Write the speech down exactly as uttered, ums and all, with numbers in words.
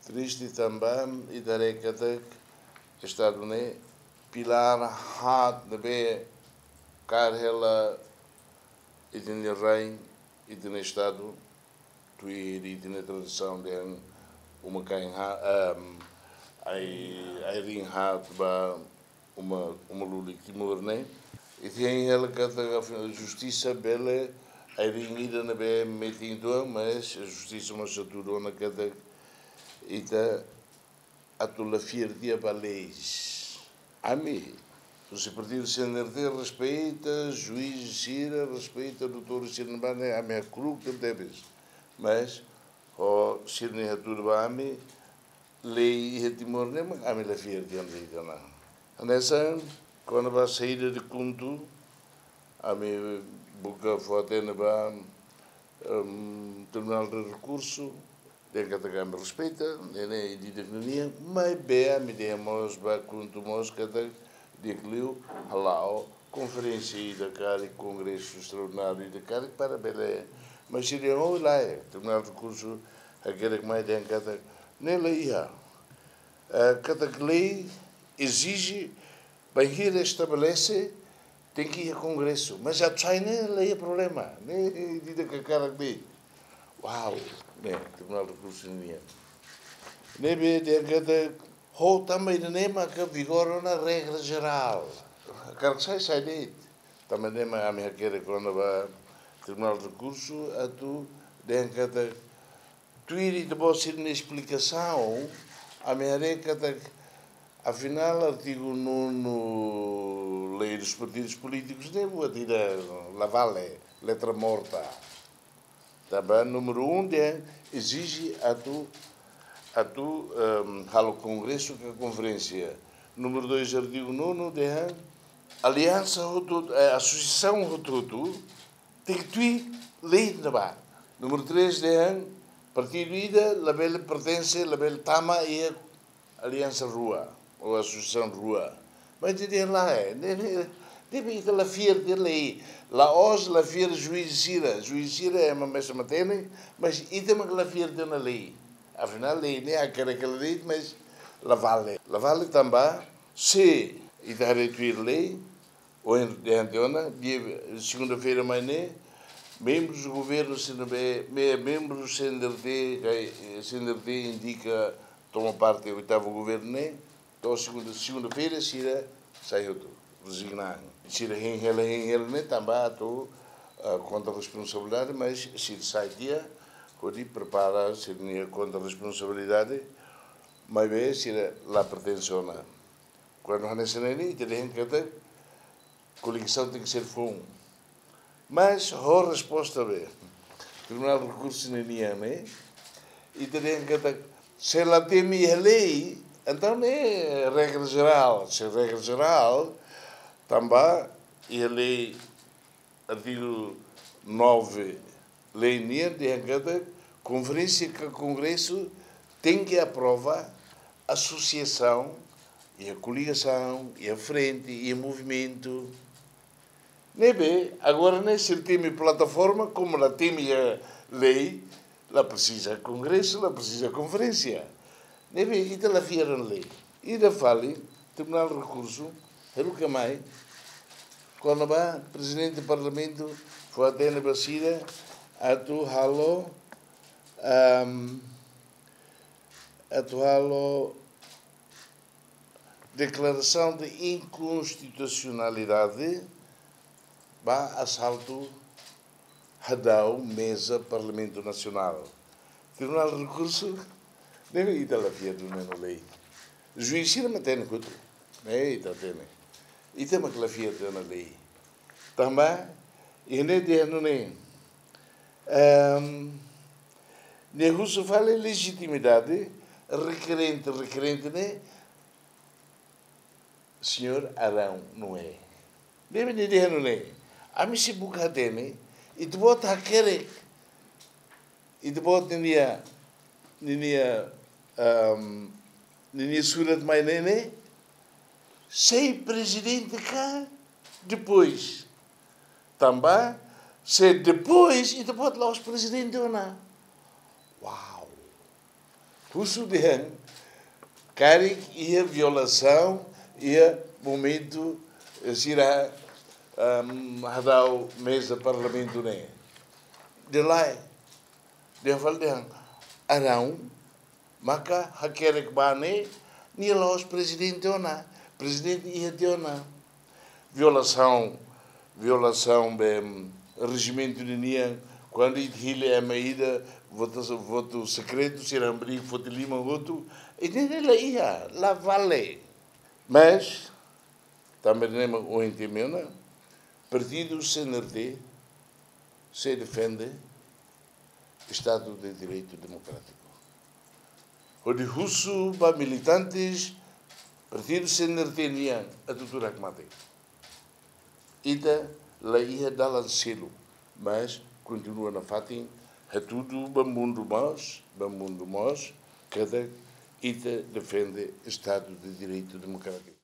Triste tanba ita haree katak Estadu ne'e pilár haat ne'ebé kaer hela ita-nia rain, ita-nia Estadu, tuir ita-nia tradisaun dehan uma-kain haat, em, ai, ai-riin haat ba uma, uma lulik Timor ne'e. Ita hein hela katak justisa bele ai-riin ida ne'ebé metin uitoan, mas justisa mós hatudu ona katak ita atu la fiar tiha ba leis. Ami, husi partidu C N R T respeita juís sira, respeita doutór sira ne'ebá ne'e, ami hakru'uk tebetebes. Mas, ho sira-nia hatudu ba ami, lei iha Timor ne'e mak ami la fiar tiha ona. Hanesan, kona-ba saida de KHUNTO, ami buka fó-hatene ba, em, Tribunál de Rekursu, dehan katak ami respeita, ne'e ne'e direitu nian, maibé ami dehan mós ba KHUNTO mós katak di'ak liu hala'o konferénsia ida karik, kongresu estraordináriu ida karik para bele, mas sira dehan lae, Tribunál de Rekursu hakerek mai dehan katak ne'e la iha. Eh, katak lei ezije bainhira estabelese tenke iha kongresu. Mas atu sai ne'e la iha problema. Ne'e ida ke karik de'it. Uau, ne'e, Tribunál de Rekursu nian. Ne'ebé dehan katak ho tanba ida-ne'e maka vigora ona regra jerál. Karik sai, sai de'it. Tanba ne'e mak ami hakerek kona-ba Tribunál de Rekursu atu dehan katak tuir ita-boot sira-nia esplikasaun, ami haree katak afinál artigu nonu Lei dos Partidos Políticos ne'e buat ida la vale, letra morta. Tanba númeru um dehan ezije atu, atu, em, halo kongresu ka konferénsia. Númeru dois, artigu nonu dehan aliansa hotu-hotu, eh, asosiasaun hotu-hotu tenke tuir lei ne'ebá. Númeru três dehan partidu ida labele pertense, labele tama iha aliansa rua ou asosiasaun rua. Mas ita dehan lae, ne'e, ne'e, ne'ebé ita la fiar tiha lei. La'ós la fiar juís sira, juís sira ema mesak hatene, mas ita mak la fiar tiha ona lei. Afinál lei ne'e hakerek hela de'it, mas la vale. La vale tanba se ita haree tuir lei, ohin dehan tiha ona, dia segunda-feira mai ne'e, membrus governu sira ne'ebé, me-, membrus C N R T, ka, eh, C N R T indika toma parte oitavu governu ne'e, to'o segunda, segunda-feira sira sai hotu, rezigna. Sira hein hela, hein hela ne'e tanba atu, ah, konta responsabilidade, mas sira sai tiha, hodi prepara sira-nia konta responsabilidade, maibé sira la pertense ona. Kuandu hanesan ne'e, ita dehan katak koligasaun tenke ser foun. Mas ho resposta be, Tribunál de Rekursu ninian ne'e, ita dehan katak se la temi iha lei, entaun ne'e regra jerál, se regra jerál, tanba iha lei artigu nove, lei nian dehan katak konferénsia ka kongresu tenke aprova asosiasaun, iha koligasaun, iha frente, iha movimentu. Ne'ebé, agora ne'e sira temi plataforma, komu la temi iha lei, la presiza kongresu, la presiza konferénsia. Ne'ebé, ita la fiar ona lei. Ida fali, Tribunál Rekursu, hela ka mai, kona-ba Prezidente Parlamentu fó-hatene ba sira atu halo, am, atu halo deklarasaun de inkonstitusionalidade ba asaltu hadau meza Parlamentu Nasionál. Tribunál Rekursu, ne'e ita la fiar duni ona lei. Juís sira mak hatene hotu. Ne'e ita hatene. Ita mak la fiar duni ona lei. Tanba, iha ne'e dehan nune'e, em, ne'e husu fali lejitimidade, rekerente, rekerente ne'e, señór Arão Noé. Ne'ebé nia dehan nune'e, ami sei buka hatene, ita-boot hakerek, ita-boot ninia, ninia, em, ninia surat mai ne'e ne'e, sei prezidente ka depois. Tanba, se depois, ita-boot la'ós prezidente ona. Uau! Husu dehan karik iha violasaun iha momentu, eh, sira, ehm, hadau meza parlamentu ne'e. Dehan lae, dehan fali dehan, Arão maka hakerek ba ne'e, nia la'ós prezidente ona, prezidente iha tiha ona. Violasaun, violasaun be, mm, rejimentu ninian, kuandu ita hili ema ida, votu, votu sekretu, sira hamriik foti liman hotu, ida-ne'e la iha, la vale. Mas, tanba ne'e mak ohin ita mensiona, partidu C N R T sei defende Estado de Direito Democrático. Hodi husu ba militantes partidu C N R T nian atu tuur hakmatek. Ita la iha dalan seluk, mas kontinua nafatin hatudu ba mundu mós, ba mundu mós, katak ita defende Estado de Direito Democrático.